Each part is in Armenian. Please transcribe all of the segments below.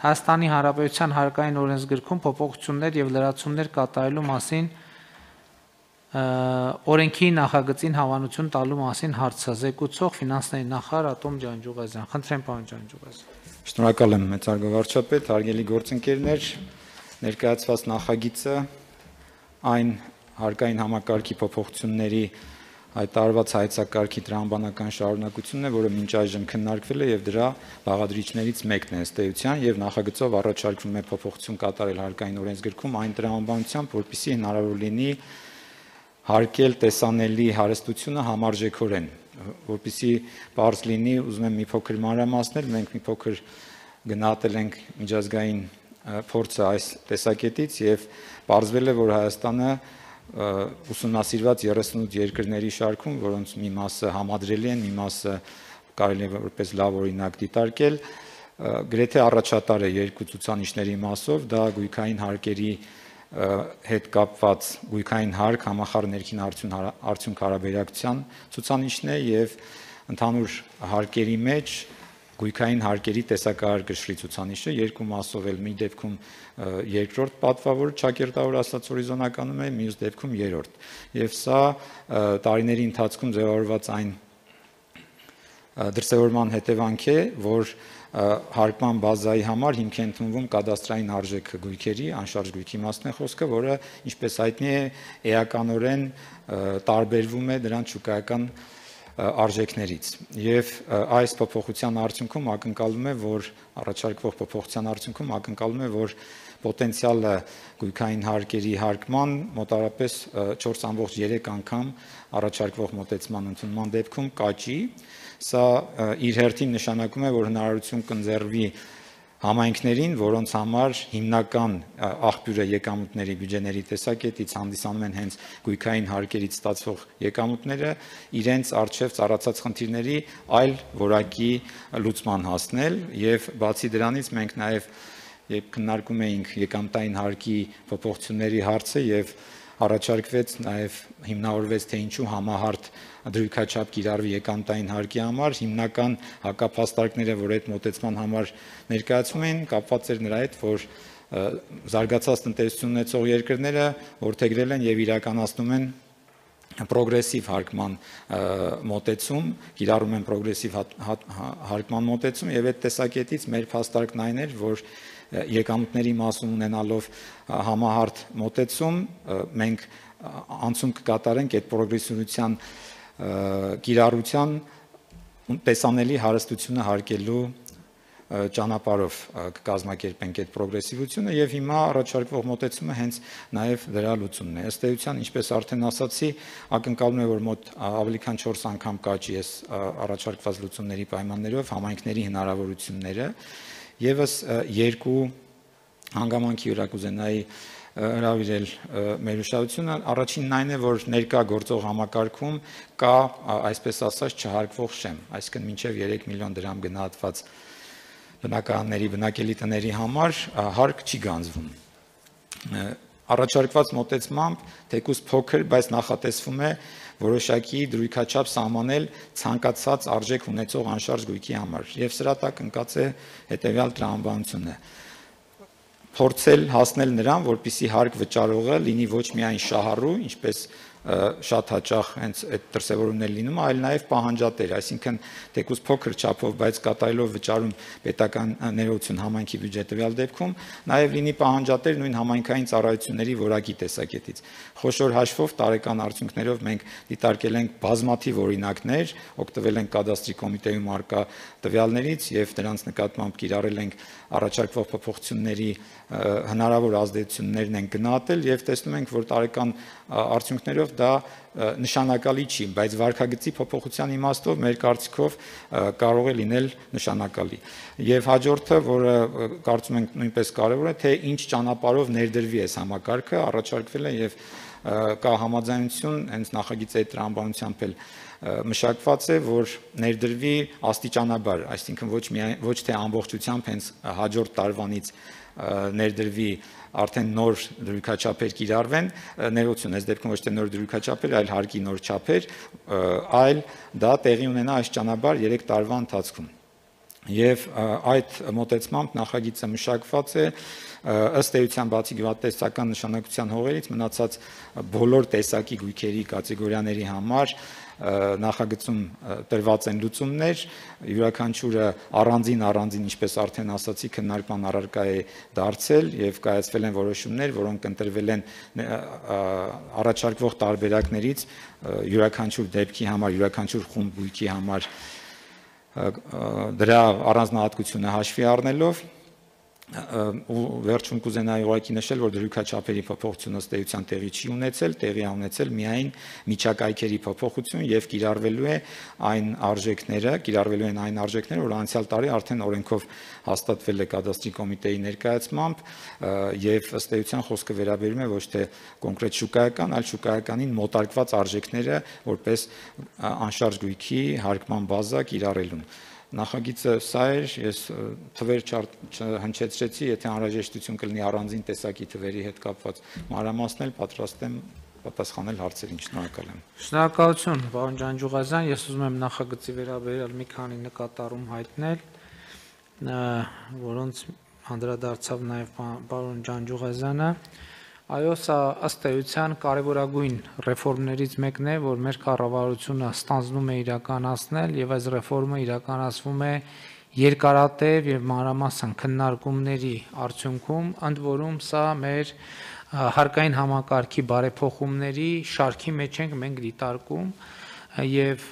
Հայաստանի Հանրապետության հարկային օրենսգրքում փոփոխություններ եւ լրացումներ կատարելու մասին օրենքի նախագծին հավանություն տալու մասին հարցը զեկուցող ֆինանսների նախարար Ատոմ Ջանջուղազյան։ Խնդրեմ, պարոն Ջանջուղազյան։ Շնորհակալ եմ մեծարգո վարչապետ, հարգելի գործընկերներ, ներկայացված նախագիծը այն հարկային համակարգի փոփոխությունների հայտարարված հայեցակարգի տրամաբանական շարունակությունն է, որը մինչ այժմ քննարկվել է եւ դրա բաղադրիչներից մեկն է ըստ էության եւ նախագծով առաջարկվում է փոփոխություն կատարել հարկային օրենսգրքում այն տրամաբանությամբ, որպեսզի հնարավոր լինի հարկել տեսանելի հարստությունը համարժեքորեն, որպեսզի բարձ լինի, ուզում եմ մի փոքր մանրամասնել, մենք մի փոքր գնահատել ենք միջազգային փորձը այս տեսակետից եւ բարձվել է, որ Հայաստանը ուսումնասիրված 38 երկրների շարքում, որոնց մի մասը համադրելի են, մի մասը կարելի է որպես լավ օրինակ դիտարկել, գրեթե առաջատար է երկու ցուցանիշների մասով, դա գույքային հարկերի հետ կապված գույքային հարկ համախառն ներքին արդյունք հարաբերակցության ցուցանիշն է եւ ընդհանուր հարկերի մեջ գույքային հարկերի տեսակահար կշռի ցուցանիշը երկու մասով էլ մի դեպքում երկրորդ պատվավոր ճակերտավոր ասած հորիզոնականում է, մյուս դեպքում երրորդ։ Եվ սա տարիների ընթացքում ձևավորված այն դրսևորման հետևանք է, որ հարկման բազայի համար հիմք է ընդունվում կադաստրային արժեքը գույքերի, անշարժ գույքի մասն է խոսքը, որը ինչպես հայտնի է, էականորեն տարբերվում է դրանց շուկայական արժեքներից եւ այս փոփոխության արդյունքում ակնկալում է, որ առաջարկվող փոփոխության արդյունքում ակնկալում է, որ պոտենցիալը գույքային հարկերի հարկման մոտավորապես 4.3 անգամ առաջարկվող մոտեցման ընդունման դեպքում կաճի, սա իր հերթին նշանակում է, որ հնարավորություն կընձեռվի համայնքներին, որոնց համար հիմնական աղբյուրը եկամուտների բյուջեների տեսակետից հանդիսանում են հենց գույքային հարկերից ստացվող եկամուտները, իրենց առջև ծառացած խնդիրների այլ որակի լուծման հասնել եւ բացի դրանից մենք նաեւ երբ քննարկում էինք եկամտային հարկի փոփոխությունների հարցը եւ առաջարկվեց նաեւ հիմնավորվեց թե ինչու համահարթ դրույքաչափ կիրառվի եկամտային հարկի համար, հիմնական հակափաստարկները, որ այդ մոտեցման համար ներկայացում են, կապված էր նրա հետ, որ զարգացած տնտեսություն ունեցող երկրները որդեգրել են եւ իրականացնում են պրոգրեսիվ հարկման մոտեցում, կիրառում են պրոգրեսիվ հարկման մոտեցում եւ այդ տեսակետից մեր փաստարկն այն էր, որ եկամուտների մասում ունենալով համահարթ մոտեցում մենք անցում կկատարենք այդ պրոգրեսիվության կիրառության տեսանելի հարստությունը հարկելու ճանապարհով կկազմակերպենք այդ պրոգրեսիվությունը եւ հիմա առաջարկվող մոտեցումը հենց նաեւ դրա լուծումն է։ Ըստ էության, ինչպես արդեն ասացի, ակնկալում է, որ մոտ ավելի քան 4 անգամ կաճի այս առաջարկված լուծումների պայմաններով համայնքների հնարավորությունները եւս երկու հանգամանքի վրա կուզենայի հրավիրել մեր ուշադրությունը, առաջինն այն է, որ ներկա գործող համակարգում կա, այսպես ասած, չհարկվող շեմ, այսինքն մինչև 3 միլիոն դրամ գնահատված բնակարանների, բնակելի տների համար հարկ չի գանձվում։ Առաջարկված մոտեցմամբ թեկուզ փոքր, բայց նախատեսվում է որոշակի դրույքաչափ սահմանել ցանկացած արժեք ունեցող անշարժ գույքի համար եւ սրա տակ ընկած է հետեւյալ տրամաբանությունը փորձել հասնել նրան, որպեսզի հարկ վճարողը լինի ոչ միայն շահառու, ինչպես շատ հաճախ հենց այդ դրսևորումներ լինում, այլ նաև պահանջատեր, այսինքն թեկուզ փոքր չափով, բայց կատարելով վճարում պետական ներողություն համայնքի բյուջե տվյալ դեպքում, նաև լինի պահանջատեր նույն համայնքային ծառայությունների որակի տեսակետից։ Խոշոր հաշվով տարեկան արդյունքներով մենք դիտարկել ենք բազմաթիվ օրինակներ, օգտվել ենք կադաստրի կոմիտեում առկա տվյալներից եւ դրանց նկատմամբ կիրառել ենք առաջարկվող փոփոխությունների հնարավոր ազդեցություններն են գնահատել եւ տեսնում ենք, որ տարեկան արդյունքներով դա նշանակալի չի, բայց վարկագծի փոփոխության իմաստով մեր կարծիքով կարող է լինել նշանակալի։ Եվ հաջորդը, որը կարծում ենք նույնպես կարևոր է, թե ինչ ճանապարհով ներդրվի այս համակարգը, առաջարկվել է եւ կա համաձայնություն հենց նախագծի այդ տրամաբանությամբ էլ մշակված է, որ ներդրվի աստիճանաբար, այսինքն ոչ թե ամբողջությամբ հենց հաջորդ տարվանից ներդրվի արդեն նոր դրույքաչափեր կիրառվեն, ներողություն, այս դեպքում ոչ թե նոր դրույքաչափեր, այլ հարկի նոր չափեր, այլ դա տեղի ունենա աստիճանաբար 3 տարվա ընթացքում։ Եվ այդ մոտեցմամբ նախագիծը մշակված է ըստ էության բացի գյուղատնտեսական նշանակության հողերից մնացած բոլոր տեսակի գույքերի կատեգորիաների համար նախագծում տրված են լուծումներ, յուրաքանչյուրը առանձին, ինչպես արդեն ասացի, քննարկման առարկա է դարձել եւ կայացվել են որոշումներ, որոնք ընտրվել են առաջարկվող տարբերակներից յուրաքանչյուր դեպքի համար, յուրաքանչյուր խումբ գույքի համար դրա առանձնահատկությունը հաշվի առնելով ու վերջում կուզենայի ուղղակի նշել, որ դրույքաչափերի փոփոխությունը ըստ էության տեղի չի ունեցել, տեղի ունեցել միայն միջակայքերի փոփոխություն եւ կիրառվելու են այն արժեքները, որ անցյալ տարի արդեն օրենքով հաստատվել է կադաստրի կոմիտեի ներկայացմամբ եւ ըստ էության խոսքը վերաբերում է ոչ թե կոնկրետ շուկայական, այլ շուկայականին մոտարկված արժեքները որպես անշարժ գույքի հարկման բազա կիրառելուն։ Նախագիծը սա էր, ես թվեր չհնչեցրեցի, եթե անհրաժեշտություն կլինի առանձին տեսակի թվերի հետ կապված մանրամասնել, պատրաստ եմ պատասխանել հարցերին, շնորհակալ եմ։ Շնորհակալություն, պարոն Ջանջուղազյան, ես ուզում եմ նախագծի վերաբերյալ մի քանի նկատառում հայտնել, որոնց անդրադարձավ նաև պարոն Ջանջուղազյանը։ Այո, սա ըստ էության կարևորագույն ռեֆորմներից մեկն է, որ մեր կառավարությունը ստանձնում է իրականացնել եւ այս ռեֆորմը իրականացվում է երկարատև եւ մանրամասն քննարկումների արդյունքում, ընդ որում սա մեր հարկային համակարգի բարեփոխումների շարքի մեջ ենք մենք դիտարկում եւ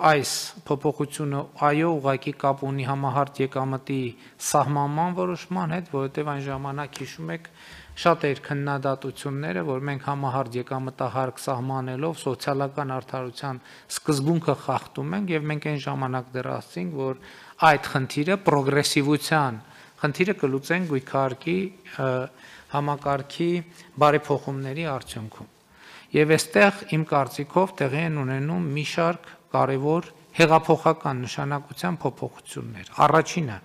այս փոփոխությունը այո ուղղակի կապ ունի համահարթ եկամտի սահմանման որոշման հետ, որովհետեւ այն ժամանակ հիշում եք շատ էր քննադատությունները, որ մենք համահարթ եկամտահարկ սահմանելով սոցիալական արդարության սկզբունքը խախտում ենք եւ մենք այն ժամանակ դեռ ասացինք, որ այդ խնդիրը պրոգրեսիվության խնդիրը կլուծենք գույքահարկի համակարգի բարեփոխումների արդյունքում։ Եվ այստեղ իմ կարծիքով տեղի են ունենում մի շարք կարևոր հեղափոխական նշանակության փոփոխություններ։ Առաջինը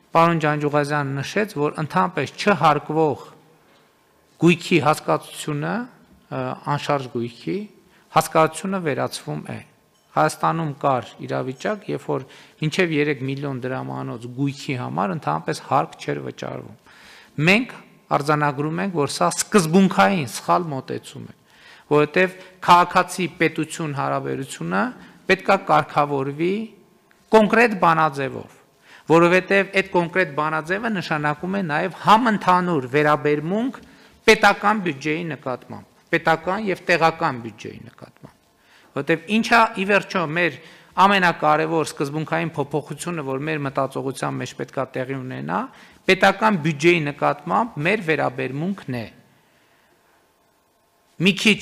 պարոն Ջանջուղազյանը նշեց, որ ընդհանրապես չհարկվող գույքի հասկացությունը, անշարժ գույքի հասկացությունը վերացվում է։ Հայաստանում կար իրավիճակ, երբ որ մինչև 3 միլիոն դրամանոց գույքի համար ընդհանրապես հարկ չէր վճարվում։ Մենք արձանագրում ենք, որ սա սկզբունքային սխալ մոտեցում է, որովհետև քաղաքացի պետություն հարաբերությունը պետք է կարգավորվի կոնկրետ բանաձևով, որովհետև այդ կոնկրետ բանաձևը նշանակում է նաև համընդհանուր վերաբերմունք պետական բյուջեի նկատմամբ, պետական եւ տեղական բյուջեի նկատմամբ, որովհետև ինչա ի վերջո մեր ամենակարևոր սկզբունքային փոփոխությունը, որ մեր մտածողության մեջ պետք է տեղի ունենա, պետական բյուջեի նկատմամբ մեր վերաբերմունքն է։ Մի քիչ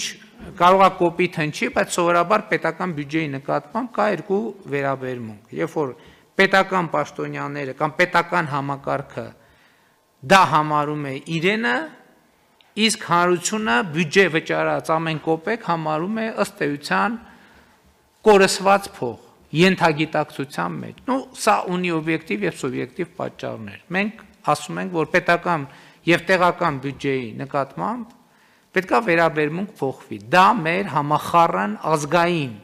կարող է կոպիտ հնչի, բայց սովորաբար պետական բյուջեի նկատմամբ կա երկու վերաբերմունք։ Երբ որ պետական պաշտոնյաները կամ պետական համակարգը դա համարում է իրենը, իսկ հանրությունը բյուջե վճարած ամեն կոպեկ համարում է ըստ էության կորսված փող, ենթագիտակցության մեջ։ Սա ունի օբյեկտիվ եւ սուբյեկտիվ պատճառներ։ Մենք ասում ենք, որ պետական եւ տեղական բյուջեի նկատմամբ պետք է վերաբերմունք փոխվի։ Դա մեր համախառն ազգային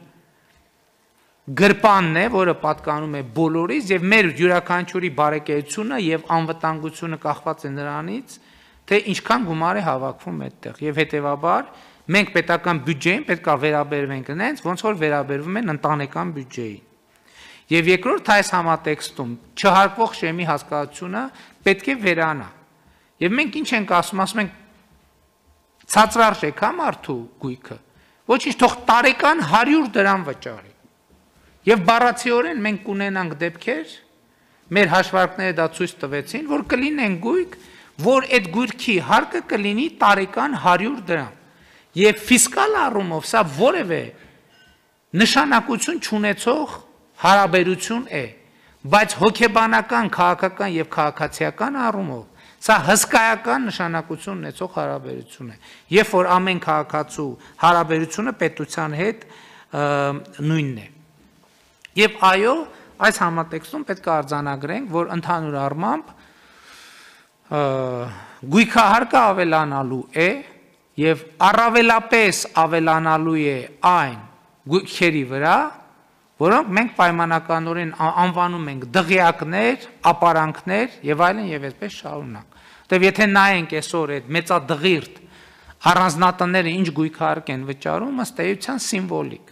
գրպանն է, որը պատկանում է բոլորից եւ մեր յուրաքանչյուրի բարեկեցությունը եւ անվտանգությունը կախված է նրանից, թե ինչքան գումար է հավաքվում այդտեղ եւ հետեւաբար մենք պետական բյուջեին պետք է վերաբերվենք այնց, ոնց որ վերաբերվում են ընտանեկան բյուջեին։ Եվ երկրորդ այս համատեքստում չհարկվող շեմի հասկացությունը պետք է վերանա։ Եվ մենք ինչ ենք ասում ենք ցածրարժեք է մարդու գույքը, ոչինչ, թող տարեկան 100 դրամ վճարի։ Եվ բառացիորեն մենք կունենանք դեպքեր, մեր հաշվարկները դա ցույց տվեցին, որ կլինեն գույք, որ այդ գույքի հարկը կլինի տարեկան 100 դրամ։ Եվ ֆիսկալ առումով սա որևէ նշանակություն չունեցող հարաբերություն է, բայց հոգեբանական, քաղաքական եւ քաղաքացիական առումով սա հսկայական նշանակություն ունեցող հարաբերություն է, երբ որ ամեն քաղաքացու հարաբերությունը պետության հետ նույնն է։ Եվ այո, այս համատեքստում պետք է արձանագրենք, որ ընդհանուր առմամբ գույքահարկը ավելանալու է եւ առավելապես ավելանալու է այն գույքերի վրա, որոնք մենք պայմանականորեն անվանում ենք դղյակներ, ապարանքներ եւ այլն եւ այդպես շարունակ։ Որտեւ եթե նայենք այսօր այդ մեծադղիրդ առանձնատները ինչ գույքարկ են վճարում, ըստ էության սիմվոլիկ։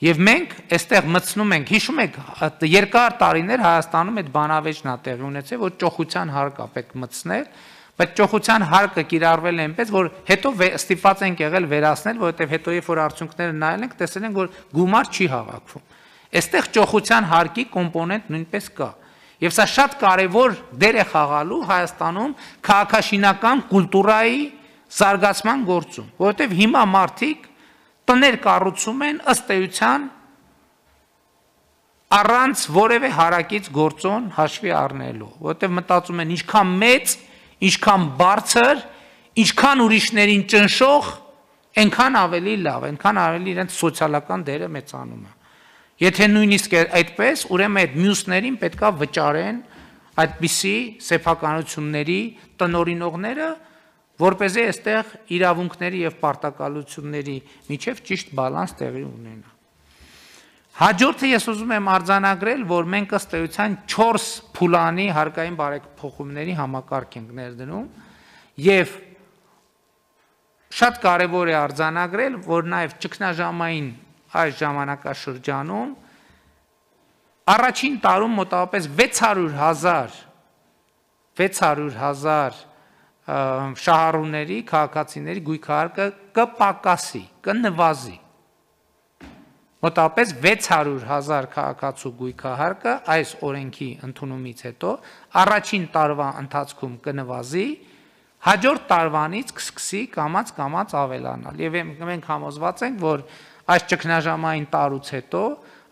Եվ մենք այստեղ մտցնում ենք, հիշում եք, երկար տարիներ Հայաստանում այդ բանավեճն է տեղի ունեցել, որ ճոխության հարկ է պետք մտցնել, բայց ճոխության հարկը կիրառվել է այնպես, որ հետո ստիպված ենք եղել վերացնել, որովհետև հետո երբ որ արդյունքները նայել ենք, տեսել ենք, որ գումար չի հավաքվում։ Այստեղ ճոխության հարկի կոմպոնենտ նույնպես կա։ Եվ սա շատ կարևոր դեր է խաղալու Հայաստանում քաղաքաշինական կուլտուրայի զարգացման գործում, որովհետև հիմա մարդիկ տներ կառուցում են ըստ էության առանց որևէ հարակից գործոն հաշվի առնելու, որովհետև մտածում են ինչքան մեծ, ինչքան բարձր, ինչքան ուրիշներին ճնշող, այնքան ավելի լավ, այնքան ավելի իրենց սոցիալական դերը մեծանում է։ Եթե նույնիսկ այդպես, ուրեմն այդ մյուսներին պետքա վճարեն այդպիսի սեփականությունների տնօրինողները, որպեսզի այստեղ իրավունքների եւ պարտականությունների միջև ճիշտ բալանս տեղի ունենա։ Հաջորդը ես ուզում եմ արձանագրել, որ մենք ըստ էության 4 փուլանի հարկային բարեփոխումների համակարգ ենք ներդնում եւ շատ կարեւոր է արձանագրել, որ նաեւ ճգնաժամային այս ժամանակաշրջանում առաջին տարում մոտավորապես 600,000 շահառուների, քաղաքացիների գույքահարկը կպակասի, կնվազի։ Մոտավորապես 600,000 քաղաքացու գույքահարկը այս օրենքի ընդունումից հետո առաջին տարվա ընթացքում կնվազի, հաջորդ տարվանից կսկսի կամաց ավելանալ։ Եվ մենք համոզված ենք, որ այս ճգնաժամային տարուց հետո,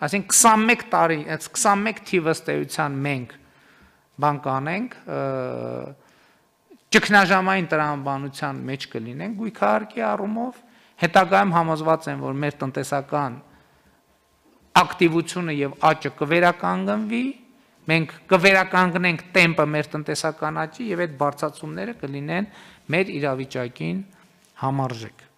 այսինքն 21 տարի, այս 21 թիվը ըստ էության մենք բան կանենք, ճգնաժամային տրամաբանության մեջ կլինենք գույքահարկի առումով, հետագայում համոզված եմ, որ մեր տնտեսական ակտիվությունը եւ աճը կվերականգնվի, մենք կվերականգնենք տեմպը մեր տնտեսական աճի եւ այդ բարձրացումները կլինեն մեր իրավիճակին համարժեք։